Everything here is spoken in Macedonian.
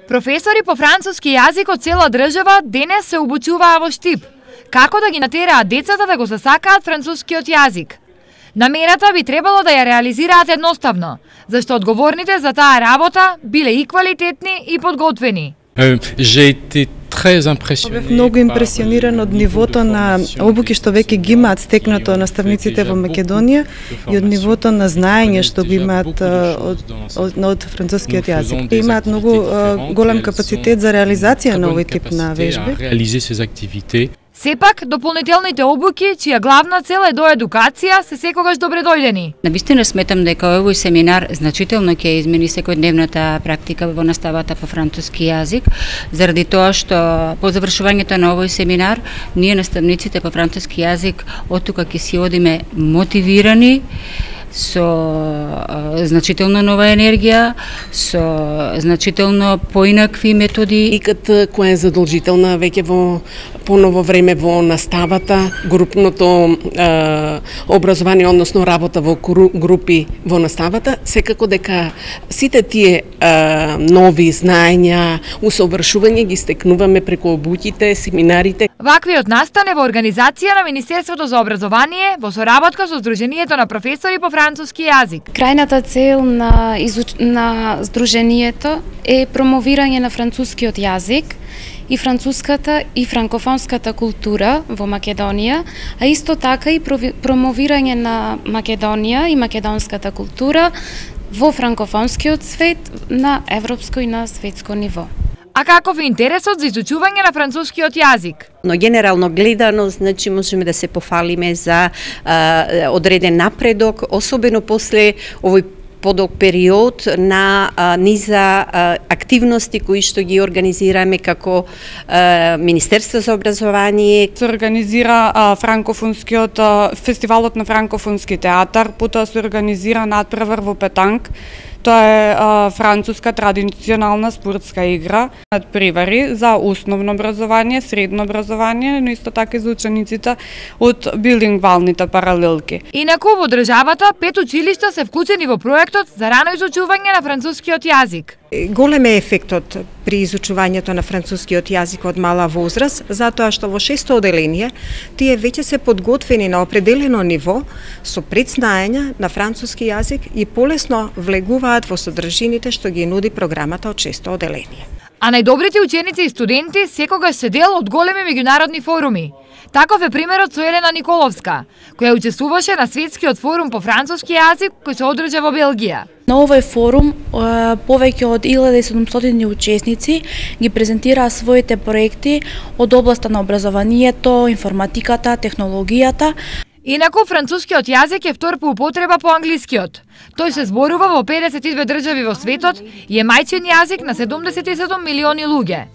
Професори по француски јазик од цела држава денес се обучуваа во Штип. Како да ги натераат децата да го засакаат францускиот јазик? Намерата би требало да ја реализираат едноставно, зашто одговорните за таа работа биле и квалитетни и подготвени. Бев многу импресиониран од нивото на обуки што веќе ги имаат стекнато наставниците во Македонија и од нивото на знаење што го имаат од францускиот јазик. Имаат многу голем капацитет за реализација на овој тип на вежби. Сепак, дополнителните обуки, чија главна цел е до едукација, се секогаш добре дојдени. Навистина сметам дека овој семинар значително ќе измени секојдневната практика во наставата по француски јазик, заради тоа што по завршувањето на овој семинар, ние наставниците по француски јазик оттука ќе си одиме мотивирани, со значително нова енергија, со значително поинакви методи. Икат која е задолжителна веќе во поново време во наставата, групното образование, односно работа во групи во наставата, секако дека сите тие нови знаења, усовршување ги стекнуваме преку обуќите, семинарите. Ваквиот настан е во организација на Министерството за образование во соработка со Сдруженијето на професори по француски јазик. Крајната цел на Сдруженијето е промовирање на францускиот јазик и француската и франкофонската култура во Македонија, а исто така и промовирање на Македонија и македонската култура во франкофонскиот свет на европско и на светско ниво. А каков е интересот за изучување на францускиот јазик? Но генерално гледано, значи можеме да се пофалиме за одреден напредок, особено после овој подолг период на низа активности кои што ги организираме како Министерство за образование. Се организира франкофонскиот фестивалот на франкофонски театар, потоа се организира надпревар во петанг. Тоа е француска традиционална спортска игра, надпревари за основно образование, средно образование, но исто така и за учениците од билингвалните паралелки. Инаку во државата 5 училишта се вклучени во проектот за рано изучување на францускиот јазик. Голем е ефектот при изучувањето на францускиот јазик од мала возраст, затоа што во 6-то оделение тие веќе се подготвени на определено ниво со предзнаења на француски јазик и полесно влегуваат во содржините што ги нуди програмата од 6-то оделение. А најдобрите ученици и студенти секогаш се дел од големи меѓународни форуми. Таков е примерот со Елена Николовска, која учествуваше на светскиот форум по француски јазик кој се одржа во Белгија. На овој форум повеќе од 1700 учесници ги презентираа своите проекти од областа на образованието, информатиката, технологијата. Инаку францускиот јазик е втор по употреба по англискиот. Тој се зборува во 52 држави во светот и е мајчин јазик на 77 милиони луѓе.